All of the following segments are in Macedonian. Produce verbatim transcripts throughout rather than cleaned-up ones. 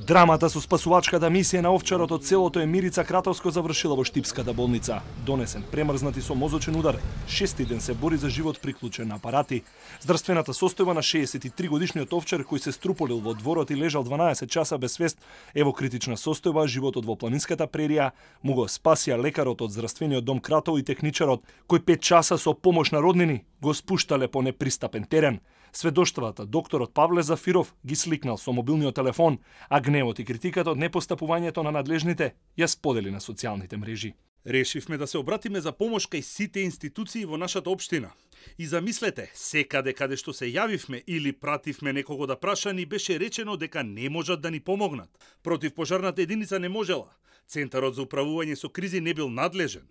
Драмата со спасувачката мисија на овчарот од селото Емирица Кратовско завршила во Штипската болница. Донесен премрзнат и со мозочен удар, шести ден се бори за живот приклучен на апарати. Здравствената состојба на шеесет и три годишниот овчар кој се струполил во дворот и лежал дванаесет часа без свест е во критична состојба, животот во планинската прерија му го спасија лекарот од здравствениот дом Кратово и техничарот кој пет часа со помош на роднини го спуштале по непристапен терен. Сведоштвата докторот Павле Зафиров ги сликнал со мобилниот телефон, а гневот и критиката од непостапувањето на надлежните ја сподели на социјалните мрежи. Решивме да се обратиме за помош кај сите институции во нашата општина. И замислете, секаде каде што се јавивме или пративме некого да праша, ни беше речено дека не можат да ни помогнат. Противпожарната единица не можела. Центарот за управување со кризи не бил надлежен.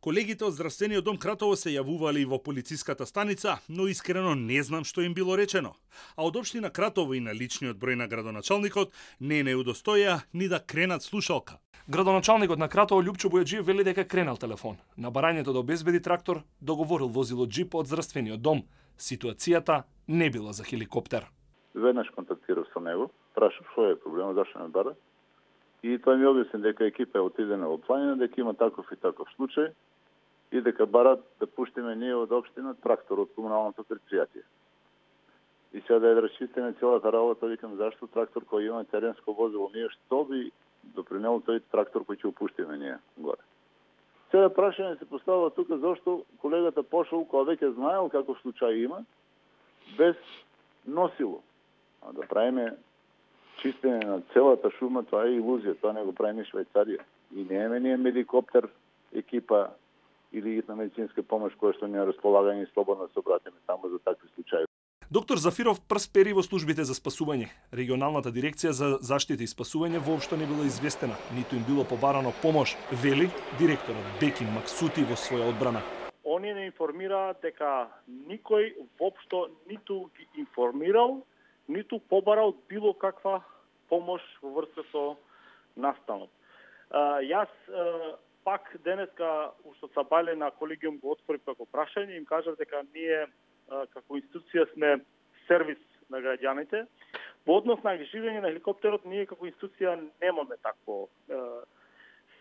Колегите од здравствениот дом Кратово се јавували и во полициската станица, но искрено не знам што им било речено. А од општина Кратово и на личниот број на градоначалникот не не удостоја ни да кренат слушалка. Градоначалникот на Кратово Љупчо Бојаджиев вели дека кренал телефон. На барањето да обезбеди трактор, договорил возило джип од здравствениот дом. Ситуацијата не била за хеликоптер. Веднаш контактирав со него, прашав што е проблемот, зашто ме бара. И тој ми објасни дека екипа е отидена во планина, дека има таков и таков случај и дека барат да пуштиме ние од општина трактор од комуналното предпријатие. И сега да ја расчистиме целата работа, викам зашто трактор кој има теренско возило, ние што би допринел тој трактор кој ќе упуштиме ние горе. Сега прашање се поставува тука зашто колегата пошол кога веќе знаел каков случај има без носило. А да правиме чистење на целата шума, тоа е илузија, тоа не го прави ни Швајцарија. И немаме ние медикоптер, екипа или на медицинска помош која што ни е располагање и слободно се обратиме таму за такви случаи. Доктор Зафиров прс пери во службите за спасување. Регионалната дирекција за заштита и спасување воопшто не била известена, ниту им било побарано помош, вели директорот Бекин Максути во своја одбрана. Оние не информираат дека никој воопшто ниту ги информирал, ниту побарал било каква помош во врска со настанот. А, јас а, пак денеска уште сабајле на колегиум го отворив како прашање, им кажав дека ние а, како институција сме сервис на граѓаните. Во однос на ангажирање на хеликоптерот, ние како институција немаме такво а,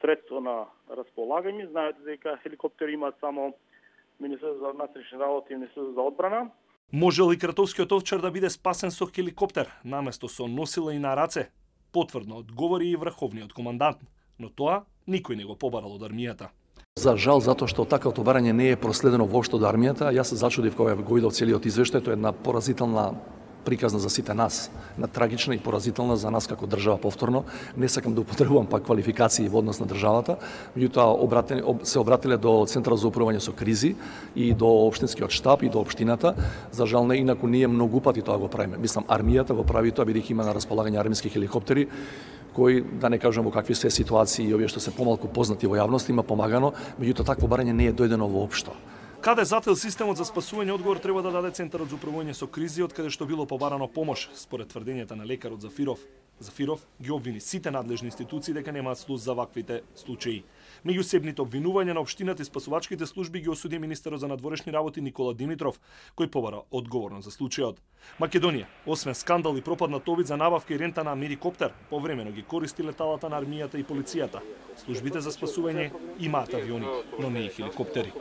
средство на располагање. Знаете дека хеликоптери имаат само Министерството за внатрешни работи и Министерството за одбрана. Можел и кратовскиот овчар да биде спасен со хеликоптер, наместо со носила и на раце? Потврдно одговори и врховниот командант, но тоа никој не го побарал од армијата. За жал, затоа што такавото барање не е проследено воопшто од армијата, јас се зачудив кога го видов целиот извештај, тоа е една поразителна приказна за сите нас, на трагична и поразителна за нас како држава повторно. Не сакам да употребувам пак квалификации во однос на државата, меѓутоа се обратиле до Центарот за управување со кризи и до општинскиот штаб и до општината. За жал не, инаку ние многу пати тоа го правиме. Мислам, армијата го прави тоа бидејќи има на располагање армиски хеликоптери кои, да не кажам во какви се ситуации и овие што се помалку познати во јавност, има помагано, меѓутоа такво барање не е дојдено воопшто. Каде зател системот за спасување, одговор треба да даде Центарот за управување со кризи, од каде што било побарано помош, според тврдењата на лекарот Зафиров. Зафиров ги обвини сите надлежни институции дека немаат слух за ваквите случаи. Меѓу себните обвинувања на општината и спасувачките служби ги осуди министерот за надворешни работи Никола Димитров, кој побара одговорност за случајот. Македонија, освен скандал и пропаднат обид за набавка и рента на медикоптер, повремено ги користи леталата на армијата и полицијата. Службите за спасување имаат авиони, но не и хеликоптери.